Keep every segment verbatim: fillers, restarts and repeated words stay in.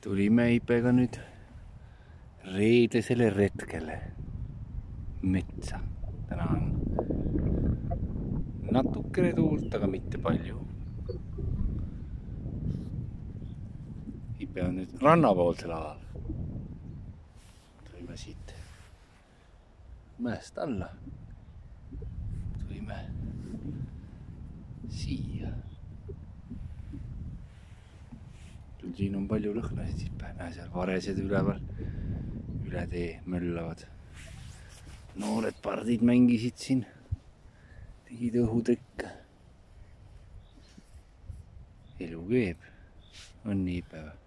tulime Ipega nüüd reedesele retkele metsa. Täna on natukene tuult, aga mitte palju. Ipe on nüüd rannapoolsel alal. Tulime siit mäest alla. Tulime siia. Siin on palju lõhnasid, Ipe. Näe seal varesed üleval. Üle tee möllavad. Noored pardid mängisid siin. Tegid õhutrikke. Elu keeb. On nii, Ipe või?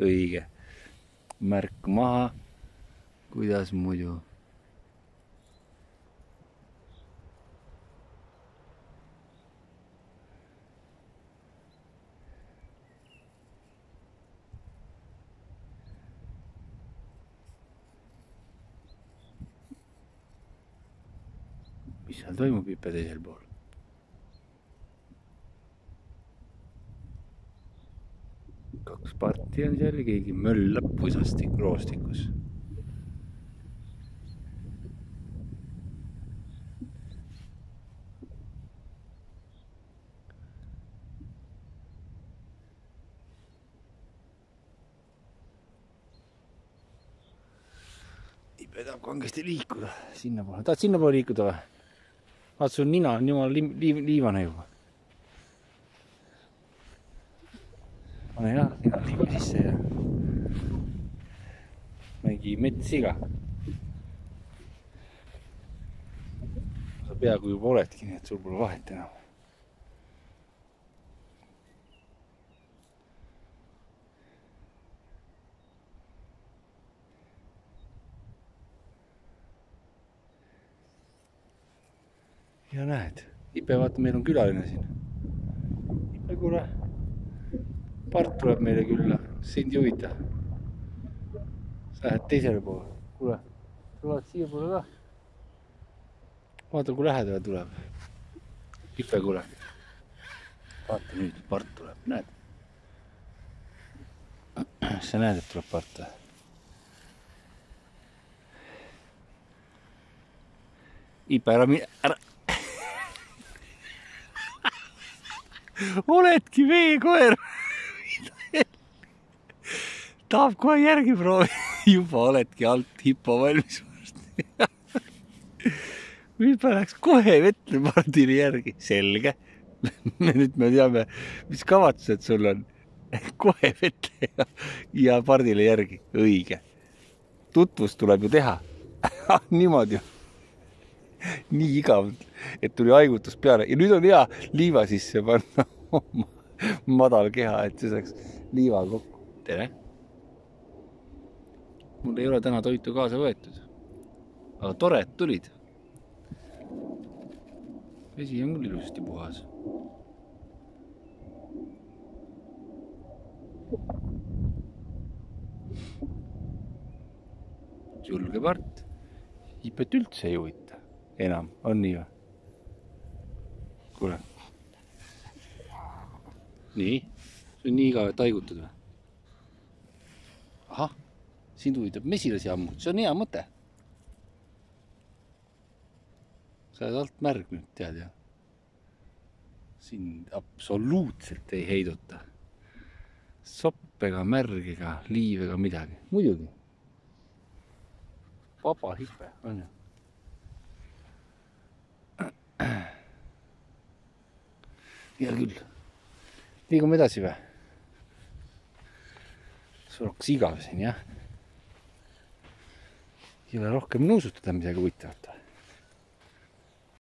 Õige. Märk maha. Kuidas muidu? Mis seal toimub, Ipe, teisel pool? Kaks parti on seal ja keegi möllab pusastik roostikus. Ipe tahab kangesti liikuda sinna poole. Tahad sinna poole liikuda või? Vaat sul nina on jumala li li liivane juba. Pane jah, nina liiva sisse ja mängi metssiga. Sa peaaegu juba oledki, nii et sul pole vahet enam. Ja näed, Ipe, vaata, meil on külaline siin. Ipe, kuule, part tuleb meile külla, sind ei huvita. Sa lähed teisele poole. Kuule, tulevad siia poole ka. Vaata, kui lähedale tuleb. Ipe, kuule. Vaata nüüd, part tuleb, näed. Sa näed, et tuleb part. Ipe, ära mine, ära. Oledki veekoer. Tahab kohe järgi proovi. Juba oledki alt hippo valmis. Ipe läks kohe vette pardile järgi. Selge. Nüüd me teame, mis kavatsused sul on. Kohe vette ja, ja pardile järgi. Õige. Tutvust tuleb ju teha. Niimoodi. Nii igav, et tuli haigutus peale. Ja nüüd on hea liiva sisse panna madal keha, et see saaks liiva kokku. Tere! Mul ei ole täna toitu kaasa võetud. Aga tore, et tulid. Vesi on küll ilusasti puhas. Julge part. Ipet üldse ei huvita. Enam, on nii või? Kuule. Nii, see on nii igav, et haigutad või? Ahah, sind huvitab mesilasi ammut, see on hea mõte. Sa oled alt märg nüüd, tead ja? Sind absoluutselt ei heiduta. Sopp ega märg ega liiv ega midagi. Muidugi. Vaba Ipe, on ju? Hea küll. Liigume edasi või? Sul hakkas igav siin, jah? Ei ole rohkem nuusutada midagi huvitavat.